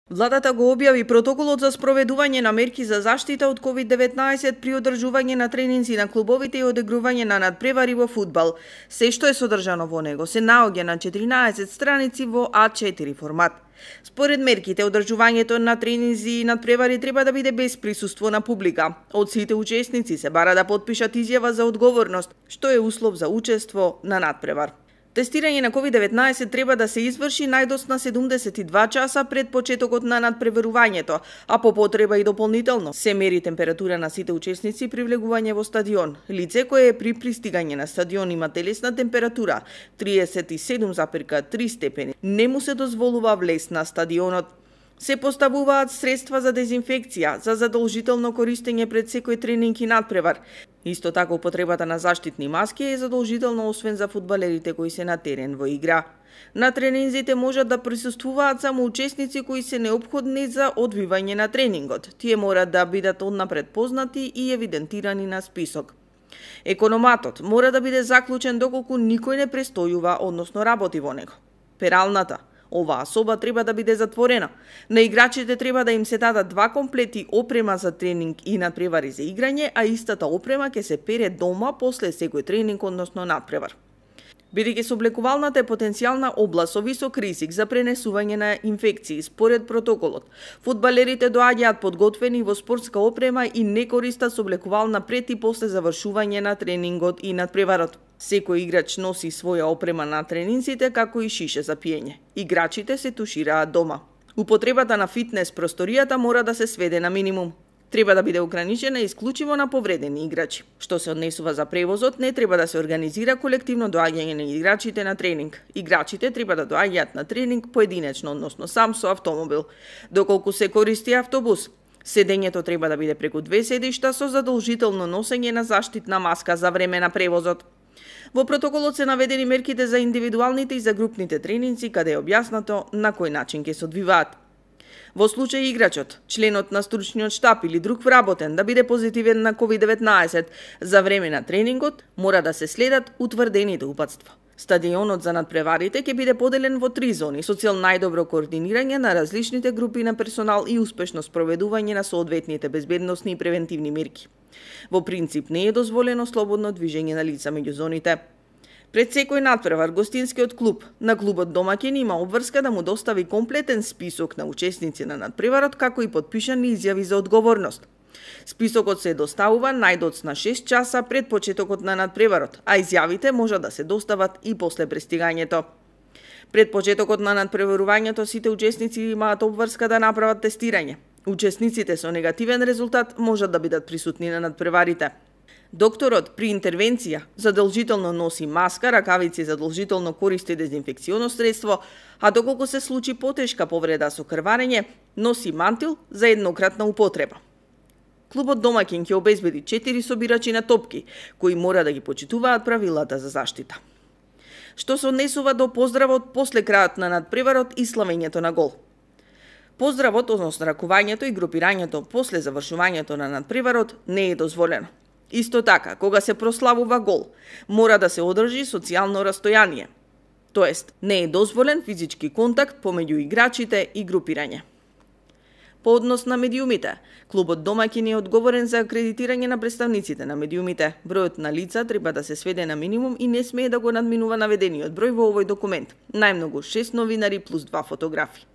Владата го објави протоколот за спроведување на мерки за заштита од COVID-19 при одржување на тренинзи на клубовите и одигрување на надпревари во фудбал. Се што е содржано во него се наоѓа на 14 страници во А4 формат. Според мерките, одржувањето на тренинзи и надпревари треба да биде без присуство на публика. Од сите учесници се бара да потпишат изјава за одговорност, што е услов за учество на надпревар. Тестирање на COVID-19 треба да се изврши најдосна 72 часа пред почетокот на надпреварувањето, а по потреба и дополнително се мери температура на сите учесници при влегување во стадион. Лице кое при пристигање на стадион има телесна температура 37,3 степени, не му се дозволува влез на стадионот. Се поставуваат средства за дезинфекција, за задолжително користење пред секој тренинг и надпревар. Исто така употребата на заштитни маски е задолжително освен за фудбалерите кои се на терен во игра. На тренинзите можат да присуствуваат само учесници кои се неопходни за одвивање на тренингот. Тие мора да бидат однапред познати и евидентирани на список. Економатот мора да биде заклучен доколку никој не престојува, односно работи во него. Пералната оваа соба треба да биде затворена. На играчите треба да им се дадат 2 комплети опрема за тренинг и надпревари за играње, а истата опрема ќе се пере дома после секој тренинг, односно надпревар. Бидејќи сооблекувалната е потенцијална област со висок ризик за пренесување на инфекции, според протоколот, фудбалерите доаѓаат подготвени во спортска опрема и не користат сооблекувална пред и после завршување на тренингот и надпреварот. Секој играч носи своја опрема на тренинзите, како и шише за пиење. Играчите се тушираат дома. Употребата на фитнес просторијата мора да се сведе на минимум. Треба да биде ограничена исклучиво на повредени играчи. Што се однесува за превозот, не треба да се организира колективно доаѓање на играчите на тренинг. Играчите треба да доаѓаат на тренинг поединечно, односно сам со автомобил. Доколку се користи автобус, седењето треба да биде преку 2 седишта со задолжително носење на заштитна маска за време на превозот. Во протоколот се наведени мерките за индивидуалните и за групните тренинзи, каде е објаснато на кој начин ќе се одвиваат. Во случај играчот, членот на стручниот штаб или друг вработен да биде позитивен на COVID-19 за време на тренингот, мора да се следат утврдените упатства. Стадионот за надпреварите ќе биде поделен во 3 зони со цел најдобро координирање на различните групи на персонал и успешно спроведување на соодветните безбедносни и превентивни мерки. Во принцип не е дозволено слободно движење на лица меѓу зоните. Пред секој надпревар, гостинскиот клуб на клубот домаќин има обврска да му достави комплетен список на учесници на надпреварот, како и подпишани изјави за одговорност. Списокот се доставува најдоцна 6 часа пред почетокот на надпреварот, а изјавите можат да се достават и после пристигањето. Пред почетокот на надпреварувањето сите учесници имаат обврска да направат тестирање. Учесниците со негативен резултат можат да бидат присутни на надпреварите. Докторот при интервенција задолжително носи маска, ракавици задолжително користи дезинфекционо средство, а доколку се случи потешка повреда со крварење, носи мантил за еднократна употреба. Клубот домаќин ќе обезбеди 4 собирачи на топки, кои мора да ги почитуваат правилата за заштита. Што се однесува до поздравот после крајот на надпреварот и славењето на гол. Поздравот, односно ракувањето и групирањето после завршувањето на надпреварот не е дозволено. Исто така, кога се прославува гол, мора да се одржи социјално растојание, тоест не е дозволен физички контакт помеѓу играчите и групирање. По однос на медиумите, клубот домаќин е одговорен за акредитирање на представниците на медиумите. Бројот на лица треба да се сведе на минимум и не смее да го надминува наведениот број во овој документ. Најмногу 6 новинари плюс 2 фотографи.